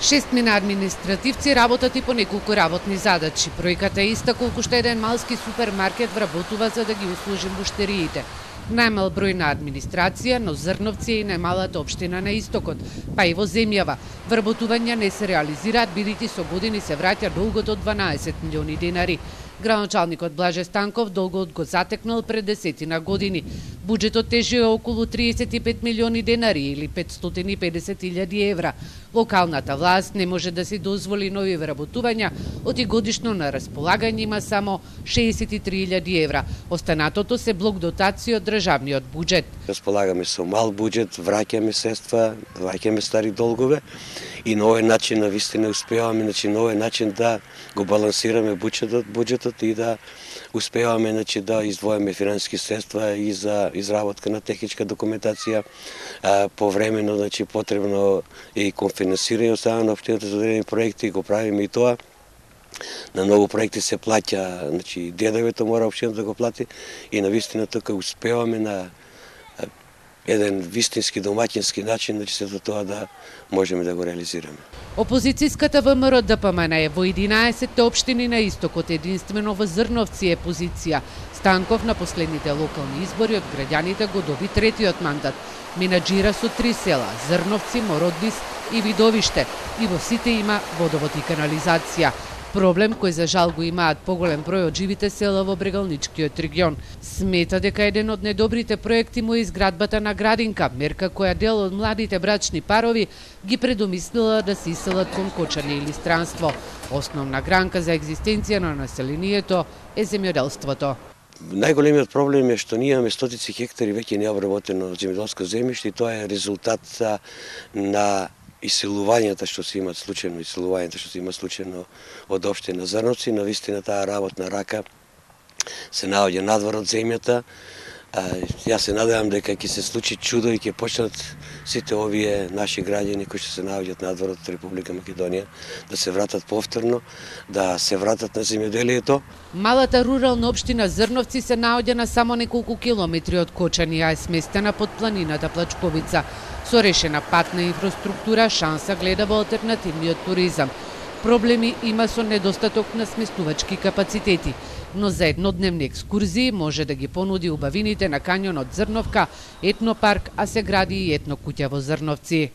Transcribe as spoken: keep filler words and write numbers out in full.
Шестмина административци работат и по неколку работни задачи. Бројката е иста колку што еден малски супермаркет вработува за да ги услужи муштериите. Најмал број на администрација, но Зрновци е и најмалата општина на истокот, па и во земјава. Вработувања не се реализираат, бидејќи со години се враќа долгот од дванаесет милиони денари. Градоначалникот Блаже Станков долгот го затекнал пред десетина години. Буџетот тежи околу триесет и пет милиони денари или петстотини и педесет илјади евра. Локалната власт не може да си дозволи нови вработувања, оти годишно на располагање има само шеесет и три илјади евра. Останатото се блок дотација од државниот буџет. Располагаме со мал буџет, враќаме средства, враќаме стари долгове и на овој начин навистина успеваме, значи на овој начин да го балансираме буџетот, буџетот и да успеваме, значи да издвоиме финансиски средства и за изработка на техничка документација, а, повремено, значи потребно и конфинансирање од страна на општината за одредени проекти, го правиме и тоа. На многу проекти се плаќа, значи ДДВ-то мора општината да го плати и навистина тука успеваме на еден вистински домаќински начин, значи сето тоа да можеме да го реализираме. Опозицијската ВМРО Д П М Н е во единаесет општини на истокот, единствено во Зрновци е позиција. Станков на последните локални избори од граѓаните го доби третиот мандат. Менаџира со три села – Зрновци, Мородвис и Видовиште, и во сите има водовод и канализација. Проблем кој за жал го имаат поголем број од живите села во Брегалничкиот регион. Смета дека еден од најдобрите проекти му е изградбата на градинка, мерка која дел од младите брачни парови ги предомислила да се иселат кон кочање или странство. Основна гранка за екзистенција на населението е земјоделството. Најголемиот проблем е што ние имаме стотици хектари веќе необработено земјоделско земјиште и тоа е резултат на иселувањата што се имат случајно, иселувањата што се имат случајно од општина Зрновци, навистина таа работна рака се наоѓа надвор од земјата. Јас се надевам дека ќе се случи чудо и ќе почнат сите овие наши граѓани кои што се наоѓаат надвор од Република Македонија да се вратат повторно, да се вратат на земјоделието. Малата рурална општина Зрновци се наоѓа на само неколку километри од Кочани, а е сместена под планината Плачковица. Со решена патна инфраструктура шанса гледа во алтернативниот туризам. Проблеми има со недостаток на сместувачки капацитети, но за еднодневни екскурзии може да ги понуди убавините на кањонот Зрновка, етнопарк, а се гради и етно куќа во Зрновци.